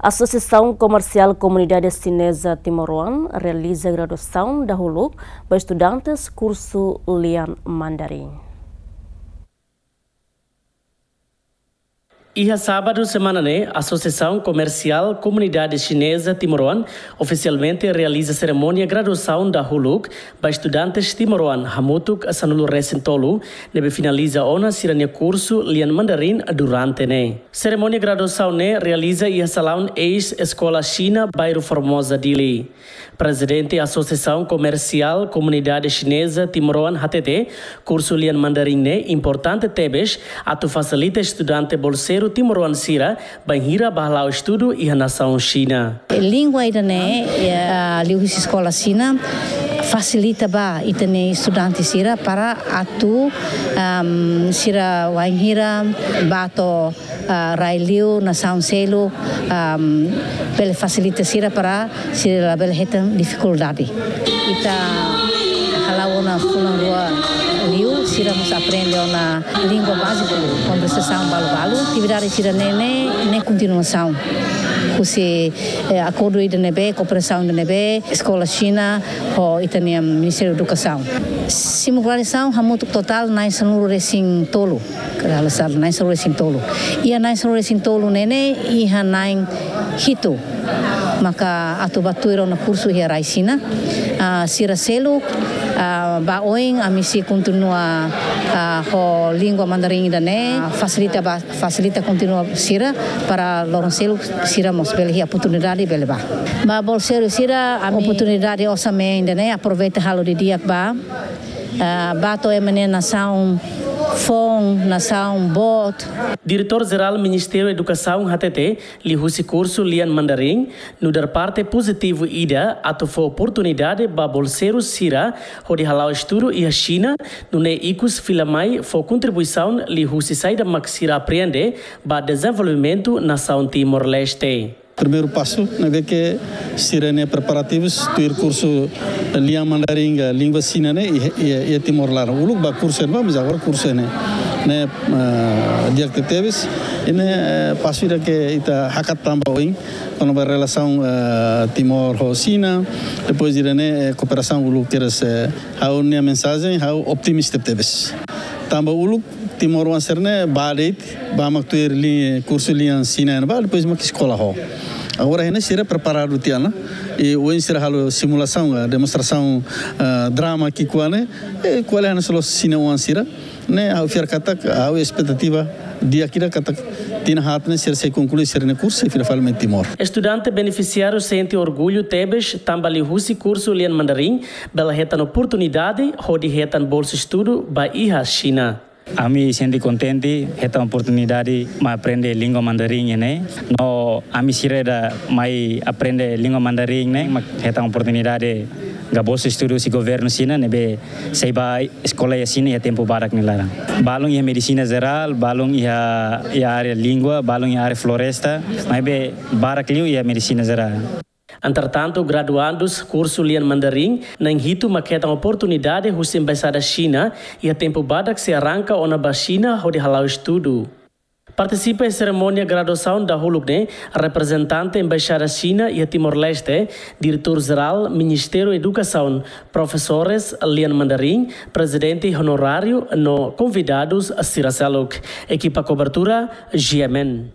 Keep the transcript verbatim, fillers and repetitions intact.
Asosiasaun Komersiál Komunidade Xineza Timoroan realiza graduasaun dahuluk ba estudantes kursu lian Mandarin. Iha sábadu semana ne'e, Asosiasaun Komersiál Komunidade Xineza Timoroan ofisialmente realiza serimónia graduasaun dahuluk ba estudantes timoroan hamutuk sanulu-resin-tolu ne'ebé finaliza ona sira-nia kursu lian Mandarin durante ne'e. Serimónia graduasaun ne'e realiza iha salaun eis Eskola Xina, Bairru Formosa, Dili. Prezidente Asosiasaun Komersiál Komunidade Xineza Timoroan hatete, kursu lian Mandarin ne'e importante tebes atu fasilita estudante bolseiru timoroan sira bainhira bá hala'o estudu iha nasaun Xina. Língua ida-ne'e, eh, liuhusi Eskola Xina, fasilita ba ita-nia estudante sira para atu, am, sira wainhira bá to'o, ah, rai-li'ur, nasaun seluk, am, bele fasilita sira para sira labele hetan difikuldade. Ita hala'o ona fulan rua liu, sira mós aprende ona língua báziku, konversasaun balu-balu. Atividade sira-ne'e ne'e, ne'e kontinuasaun husi, eh, akordu ida ne'ebé, kooperasaun ida ne'ebé Eskola Xina ho ita-nia Ministériu Edukasaun. Simu graduasaun hamutuk totál na'in sanulu-resin-tolu. Kala sal na'in sanulu-resin-tolu. Iha na'in sanulu-resin-tolu ne'e ne'e iha na'in hitu maka atu bá tuir ona kursu iha rai Xina. Ah, sira seluk, ah, ba oin ami sei kontinua, ah, ho língua Mandarin ida-ne'e, ah, fasilita ba, fasilita kontinua sira para loron seluk sira mós bele iha oportunidade bele bá. Ba bolseiru sira ami oportunidade osan-mean ida-ne'e aproveita halo didi'ak ba, ah, bá to'o ema nia nasaun foun, nasaun boot. Diretór Jerál Ministériu Edukasaun hatete, liuhusi kursu lian Mandarin, nu'udar parte pozitivu ida atu fó oportunidade ba bolseiru sira hodi hala'o estudu iha Xina, nune'e ikus fila mai fó kontribuisaun liuhusi saida mak sira aprende ba dezenvolvimentu nasaun Timor-Leste. Primeiru pasu ne'ebé ke sira-nia preparativus tuir kursu lian Mandarin ka língua Xina ne'e iha, iha, iha Timor laran. Uluk ba kursu ne'ebá, mas agora kursu ne'e, ne'e, eh, di'ak tebetebes. I ne'e, eh, pasu ida ke ita hakat tanba oin, kona-ba relasaun, eh, Timor ho Xina. Depois ida-ne'e, eh, kooperasaun uluk kedas, eh, ha'u-nia mensajen, ha'u optimista tebes. Tanba uluk timoroan sira-ne'e bá de'it, bá mak tuir li-, kursu lian Xina ne'ebá, depois mak eskola ho. Agora ne'e sira preparadu tiha ona. I ohin sira halo simulasaun, eh, demonstrasaun, eh, drama ki'ikoan ne'e, eh, ko'alia hanesan loos Xina oan sira. Ne'e ha'u fiar katak, ha'u espetativa di'ak ida katak tinan haat ne'e sira sei konklui sira-nia kursu, sei fila fali mai Timor. Estudante benefisiáriu sente orgullu tebes tanba liuhusi kursu lian Mandarin bele hetan oportunidade hodi hetan bolsa estudu ba iha Xina. Ami sente kontente hetan oportunidade mai aprende língua Mandarin ne'e. No ami sira ida mai aprende língua Mandarin ne'e, mak hetan oportunidade ka bolsa estudu husi governu Xina ne'ebé sei bá eskola iha Xina iha tempu badak nia laran. Balun iha medisina jerál, balun iha, iha área língua, balun iha área floresta, maibé barak liu iha medisina jerál. Entretantu, graduandus kursu lian Mandarin na'in hitu mak hetan oportunidade husi Embaixada Xina iha tempu badak sei arranka ona ba Xina hodi hala'o estudu. Partisipa iha serimónia graduasaun dahuluk ne'e reprezentante Embaixada Xina iha Timor-Leste, Diretór Jerál Ministériu Edukasaun, profesores lian Mandarin, prezidente onoráriu no konvidadus sira seluk. Ekipa kobertura, G M N.